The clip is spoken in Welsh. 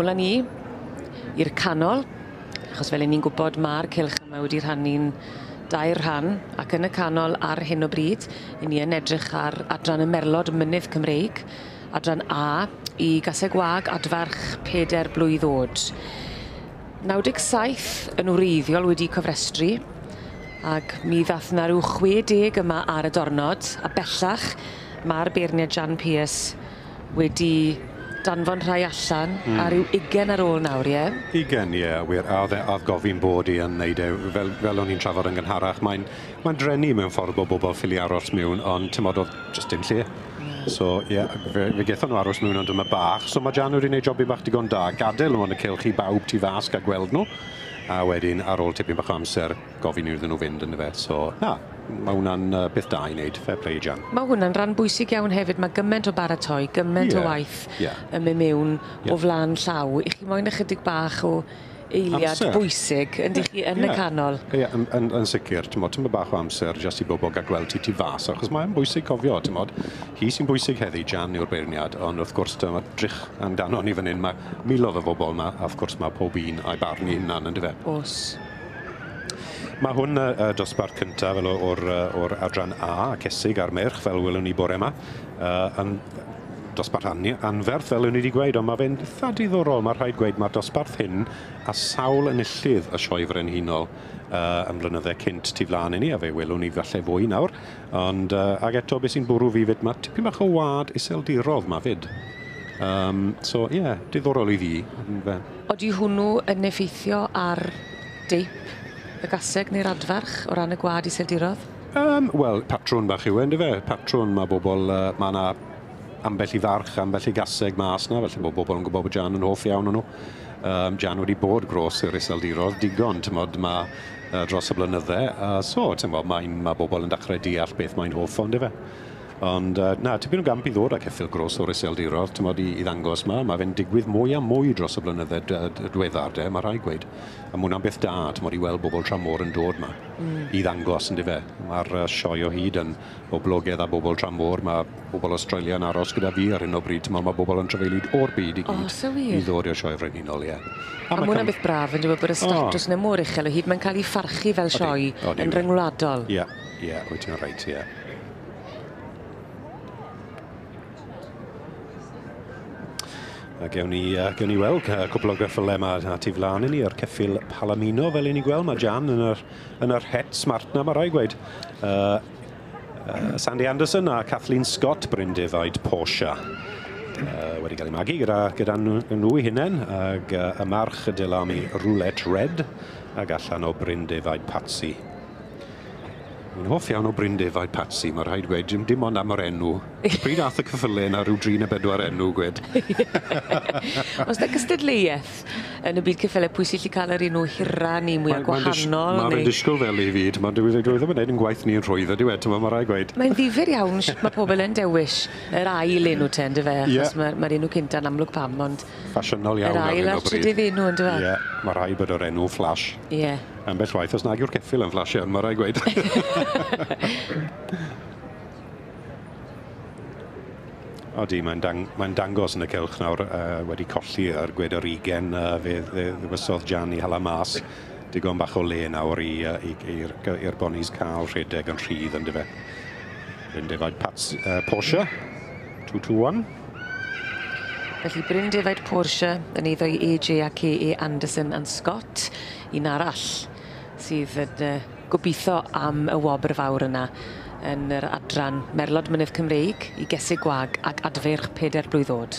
Nôl â ni i'r canol, achos fel 'yn ni'n gwbod ma'r cylch yma wedi rhannu'n dair rhan, ac yn y canol ar hyn o bryd 'yn ni yn edrych ar adran y Merlod Mynydd Cymreig, adran A i gaseg wag adfarch peder blwydd o'd. 97 yn wreiddiol wedi cofrestru, ag mi ddath 'na ryw 60 yma ar y dornod, a bellach ma'r beirniad Jan Pearce wedi danfon rhai allan a ryw ugen ar ôl nawr, ie? Ugen, ie, wir. A o'dd e o'dd gofyn bod i yn neud e, fel fel o'n i'n trafod yn gynharach, mae'n mae'n dreni mewn ffordd bod bobl ffili aros miwn, ond t'mod o'dd jyst dim lle. So ie, fe fe gethon nhw aros miwn ond dyma bach. So ma' Jan wedi neud jobyn bach digon da, gadel nhw yn y cylch i bawb tu fas ga'l gweld nhw, a wedyn ar ôl tipyn bach o amser gofyn iddyn nhw fynd yndyfe. So na, ma' hwnna'n beth da i wneud, fair play i Jan. Ma' hwnna'n ran bwysig iawn hefyd, ma' gyment o baratoi, gyment o waith yn mynd mewn o flan llaw. 'Ych chi moyn ychydig bach o eiliad amser bwysig yndych chi yn y canol. Ie, yn yn yn sicir, t'mod, tymed bach o amser jyst i bobl ga'l gweld ti tu fas, achos mae'n bwysig cofio, t'mod, hi sy'n bwysig heddi, Jan yw'r beirniad, ond wrth gwrs dyma drych amdano ni fan hyn, ma' miloedd o bobl 'ma, a wrth gwrs ma' pob un a'i barn 'i hunan yndyfe? O's. Ma' hwn y y dosbarth cynta fel o- o'r yy o'r adran A, cesig a'r meirch, fel welwn ni bore 'ma, yn dosbarth anferth, fel o'n i wedi gweud, ond mae fe'n eitha diddorol, mae rhaid gweud, mae'r dosbarth hyn a sawl enillydd y Sioe Frenhinol yn blynydde cynt tu flaen i ni, a fe welwn ni falle fwy nawr, ond ag eto beth sy'n bwrw fi fyd, mae tipyn bach o wad iseldirodd ma fyd. So ie, yeah, diddorol i fi. Odi hwnnw yn effeithio ar deip y gaseg neu'r adfarch o ran y gwad iseldirodd? Wel, patrwn bach yw e, yndyfe? Patrwn, mae bobl, mae yna ambell i farch, ambell i gaseg mas na, felly bod bobl yn gwybod bod Jan yn hoff iawn o'n nhw. Jan wedi bod gros i'r iseldirodd digon, t'mod, ma' dros y blynydde, so, t'mod, mae bobl yn dechrau deall beth mae'n hoff o, yndyfe? Ond na, tipyn o gamp i ddod â ceffyl gros o'r iseldirodd, t'mod, i ddangos ma, mae fe'n digwydd mwy a mwy dros y blynydde diweddar, de, mae rhaid gweud. A ma' hwnna'n beth da, t'mod, i weld bobl tramor yn dod ma, i ddangos, yndyfe? Mae'r sioe o hyd yn boblogaidd a bobl tramor, mae bobl Australia yn aros gyda fi ar hyn o bryd, t'mod, mae bobl yn trafeilu o'r byd i gyd i ddod i'r Sioe Frenhinol, ie. A ma' hwnna'n beth braf, yn dweud bod y statws yna mor uchel o hyd, mae'n cael ei pharchu fel sioe yn ryngwladol. Ie, ie, wyt ti'n reit, ie. A gewn ni weld cwpl o geffylau yma a tu flaen i ni, yr ceffyl Palomino fel i ni gweld. Mae Jan yn yr het smart na, mae rhaid gweud. Sandy Anderson a Kathleen Scott, Bryn Defaid Porsche. Wedi cael ei magu gyda nhw eu hunain, ag y march y Delami Roulette Red, ag allan o Bryn Defaid Patsy. Fi'n hoff iawn o Bryn Defaid Patsy, mae rhaid gweud, dim ond am yr enw. Pryd ath y ceffylau yna rhyw 3 neu 4 enw, gwed. Oes 'na gystadleuaeth yn y byd ceffylau pwy sy'n gallu cael yr enw hira neu mwyaf gwahanol? Mae fe'n disgwyl fel i fi, dwi ddim yn gwneud yn gwaith ni'n rhwydd ydyw e, mae rhaid gweud. Mae'n ddifyr iawn sut mae pobl yn dewis yr ail enw te, yndyfe? Achos mae'r enw cynta'n amlwg pam, ond ffasiynol iawn yr ail a'r trydydd enw, yndyfe? Ie, mae rhaid bod yr enw flash. Ie. Ambell waith, os nag yw'r ceffyl yn flash iawn, mae rhaid gweud. Odi, mae'n dangos yn y cylch nawr, wedi colli ar gwed yr 20, fe ddewisodd Jan i hala mas. Digon bach o le nawr i'r bonis cael rhedeg yn rhydd, yndyfe. Bryn Defaid Porsche, 221. Felly Bryn Defaid Porsche yn eiddo i AJ a K.A. Anderson and Scott, un arall sydd yn gobeithio am y wobr fawr yna yn yr adran Merlod Mynydd Cymreig i Gesig Gwag ac Adfeirch 4 blwydd oed.